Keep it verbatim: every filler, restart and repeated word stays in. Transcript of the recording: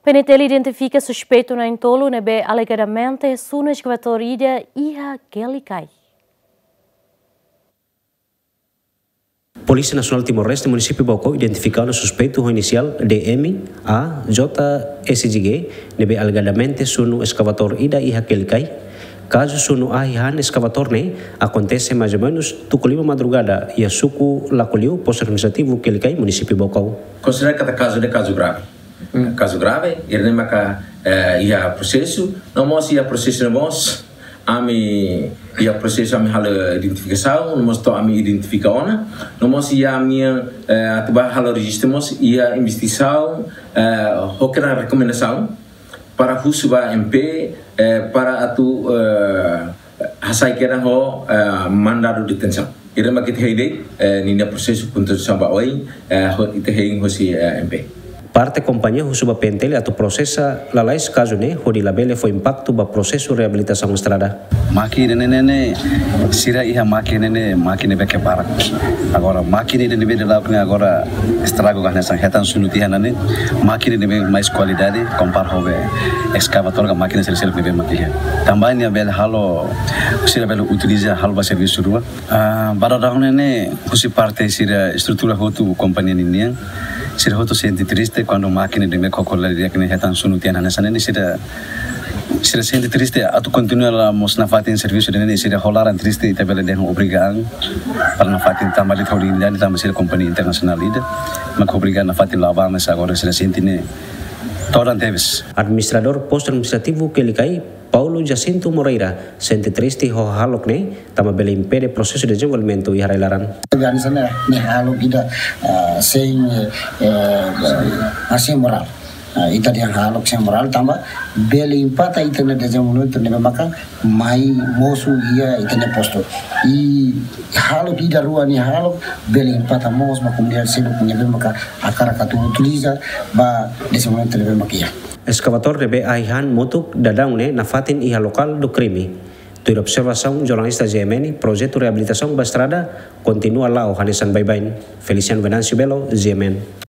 P N T L identifika suspeitu na'in-tolu ne'ebé alegadamente sunu eskavadór ida iha Quelicai. Polísia Nasionál Timor-Leste Munisípiu Baucau identifika ona suspeitu ho inisiál D M A J S G ne'ebé alegadamente sunu eskavadór ida iha Quelicai. Kazu sunu ahi han eskavadór ne'e akontese mais ou menus tuku lima madrugada iha suku Lacoliu, Postu Administrativu Quelicai, Munisípiu Baucau. Konsidera katak kazu ne'e kazu grave. Kazu grave, ida-ne'e maka, eh, iha prosesu, no mós iha prosesu no mós, ami iha prosesu ami halo identifikasaun, no mós to'o ami identifika ona, no mós iha ami, eh, atu ba halo rejistu mós iha investigasaun, eh, ho kedan rekomendasaun para husu ba M P, eh, para atu, eh, hasai kedan ho, eh, mandadu detensaun. Ida-ne'e mak ita hein de'it, eh, ninia prosesu puntuasaun ba oin, eh, ho ita hein hosi, eh, M P. Parte kompañia husu ba P N T L atu prosesa lalais kazu ne'e hodi labele fó impaktu ba prosesu reabilitasaun estrada. Mákina ne'e, ne'e, ne'e, sira iha mákina ne'e, ne'e, mákina ne'ebé ke barak. Agora, mákina ne'ebé dala ruma ne'e agora estragu ka hanesan hetan sunu tiha ona ne'e, mákina ne'ebé mais kualidade, kompara ho be eskavadór ka mákina seluk-seluk ne'ebé mak iha. Tanba ne'e bele halo, sira bele utiliza halo ba servisu rua. Ah, ba dadaun ne'e, ne'e, husi parte sira estrutura hotu kompañia ninian, sira hotu sente triste kuandu mákina ne'ebé kokola di'ak ne'e hetan sunu tiha ona hanesan ne'e, sira sira sente triste atu kontinua la mós nafatin servisu ida-ne'e, sira ho laran triste, ita bele dehan obrigadu para nafatin tanba de'it ho dignidade tanba sira kompañia internasionál ida, mak obrigadu nafatin la ba, mas agora sira sente ne'e todan tebes. Administradór Postu Administrativu Quelicai, Paulo Jacinto Moreira, sente triste ho hahalok ne'e, tanba bele impede prosesu dezenvolvimentu iha rai-laran. Organizasaun ne'e hahalok ida, ah, sein, eh, eh, ah, sein morál. Ah, ita dehan hahalok sein morál tanba bele impakta ita-nia dezenvolvimentu ne'ebé maka mai mosu iha ita-nia postu. I hahalok ida rua ne'e hahalok bele impakta mós ba komunidade seluk ne'ebé maka hakarak atu utiliza ba dezenvolvimentu ne'ebé maka iha. Eskavadór ne'ebé ahi han motuk dadaun ne'e nafatin iha lokál do krime. Tuir observasaun jornalista G M N, projetu reabilitasaun ba estrada kontinua la'o hanesan baibain. Feliciano Venâncio Belo, G M N.